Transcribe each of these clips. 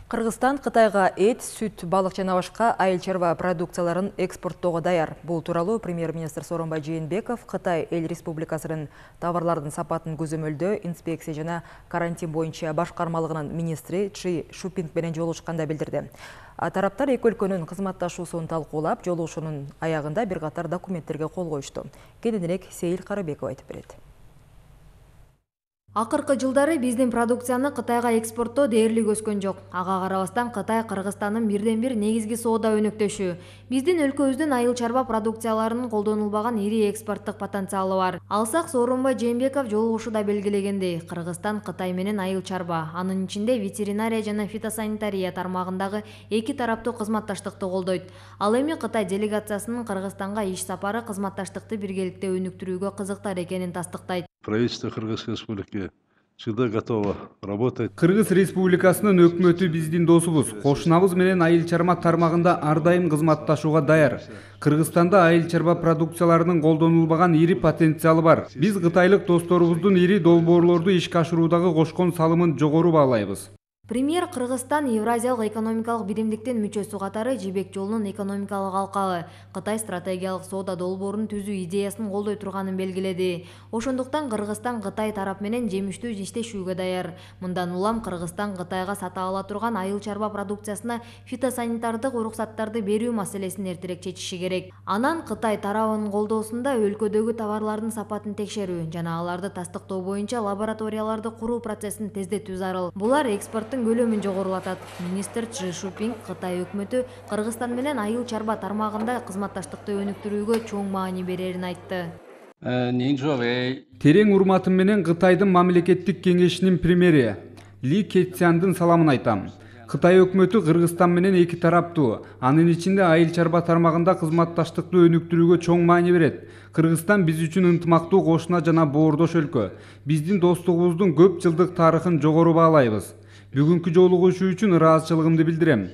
Кыргызстан Кытайга эт, сүт, балык жана башка айыл чарба продукцияларын экспорттоого даяр. Бул тууралуу премьер-министр Сооронбай Жээнбеков Кытай Эл Республикасынын товарлардын сапатын көзөмөлдөө, инспекция жана карантин боюнча башкармалыгынын министри Чи Шупинг менен жолугушканда билдирди. Тараптар эки өлкөнүн кызматташуусун талкуулап, жолугушуунун аягында бир катар документтерге кол коюшту. Кененирээк Сейил Карыбеков айтып берет. Акыркы жылдары биздин продукцияны Кытайга экспорттоо дээрлик өскөн жок. Ага карабастан Кытай Кыргызстандын бирден-бир негизги соода өнөктөшү. Биздин өлкөбүздүн айыл чарба продукцияларынын колдонулбаган ири экспорттук потенциалы бар. Алсак Сооронбай Жээнбеков жолугушууда белгилегендей, Кыргызстан Кытай менен айыл чарба, анын ичинде ветеринария жана фитосанитария тармагындагы эки тараптуу кызматташтыкты колдойт. Ал эми Кытай делегациясынын Кыргызстанга иш сапары кызматташтыкты биргеликте өнүктүрүүгө кызыктар экенин тастыктайт. Правительство Кыргызской Республики всегда готово работать. Кыргыз Республикасынын өкмөтү биздин досубуз. Кошунабыз менен айыл чарба тармагында ар дайым кызматташууга даяр. Кыргызстанда айыл чарба продукцияларынын колдонулбаган ири потенциалы бар. Биз кытайлык досторубуздун ири долбоорлорду ишке ашыруудагы кошкон салымын жогору баалайбыз. Премьер Кыргызстан Евразиялык экономикалык биримдиктин мүчөсү катары Жибек жолунун экономикалык алкалы Кытай стратегиялык соода долбоорун түзүү идеясын колдой турганын белгиледи. Ошондуктан Кыргызстан Кытай тарап менен жемиштүү иштешүүгө даяр. Мындан улам Кыргызстан Кытайга сата ала турган айыл чарба продукциясына фитосанитардык уруксаттарды берүү маселесин эртерээк чечиши керек. Анан Кытай тарабынын колдоосунда өлкөдөгү товарлардын сапатын текшерүү жана аларды тастыктоо боюнча лабораторияларды куруу процессин тездетүү зарыл. Булар экспорттун көлөмүн жогорулатат. Министр Чи Шупинг Кытай өкмөтү Кыргызстан менен айыл чарба тармагында кызматташтыкты өнүктүрүүгө чоң маани берерин айтты. Терең урматым менен Кытайдын мамлекеттик кеңешинин премьери Ли Кэцяндын саламын айтам. Кытай өкмөтү Кыргызстан менен эки тараптуу, анын ичинде айыл чарба тармагында кызматташтыкты өнүктүрүүгө чоң маани берет. Кыргызстан биз үчүн ынтымактуу кошуна жана боордош өлкө. Биздин достугубуздун көп жылдык тарыхын жогору баалайбыз. Бүгүнкү жолугушуу үчүн ыраазычылыгымды билдирем.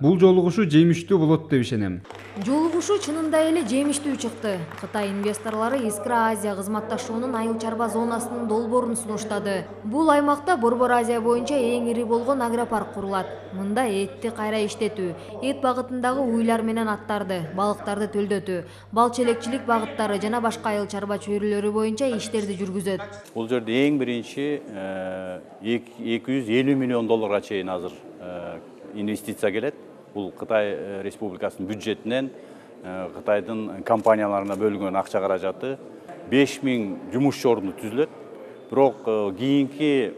Бул жолугушуу жемиштүү болот деп ишенем. Жолугушуу чынында эле жемиштүү чыкты. Кытай инвесторлору Искра Азия кызматташуунун айыл чарба зонасынын долбоорун сунуштады. Бул аймакта Борбор Азия боюнча эң ири болгон агропарк курулат. Мында этти кайра иштетүү, эт багытындагы уйлар менен аттарды, балыктарды төлдөтүү, бал челекчилик багыттары жана башка айыл чарба чөйрөлөрү боюнча иштерди жүргүзөт. Бул жерде эң биринчи 250 миллион долларга чейин азыр инвестиция келет. Бул Кытай Республикасынын бюджетинен Кытайдын компанияларына бөлүнгөн акча каражаты 5000 жумуш орду түзүлөт. Бирок кийинки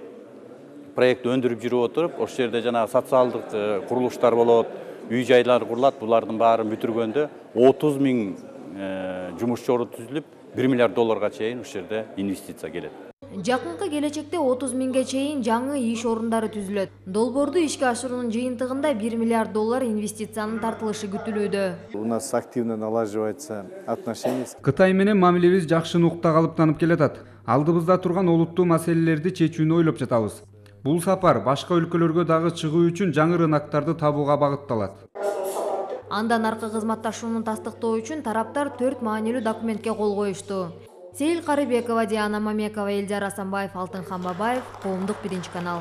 проект өндүрүп жүрүп отуруп, ошол жерде жана социалдык курулуштар болот, үй жайлар курулат. Булардын баарын бүтүргөндө 30 000 жумуш орду түзүлүп, 1 миллиард долларга чейин ошол жерде инвестиция келет. Жакынкы келечекте 30 000ге чейин жаңы иш орундары түзүлөт. Долбоорду ишке ашыруунун жыйынтыгында 1 миллиард доллар инвестициянын тартылышы күтүлүүдө. У нас активно налаживается отношения. Кытай менен мамилебиз жакшы нукта калыптанып келатат. Алдыбызда турган олуттуу маселелерди чечүүнү ойлоп жатабыз. Бул сапар башка өлкөлөргө дагы чыгуу үчүн жаңы рыноктарды табууга багытталат. Андан аркы кызматташууну тастыктоо үчүн тараптар 4 маанилүү документке кол коюшту. Сейил Карыбекова, Диана Мамекова, Элдер Асанбаев, Алтынхан Бабаев, Коомдук 1 канал.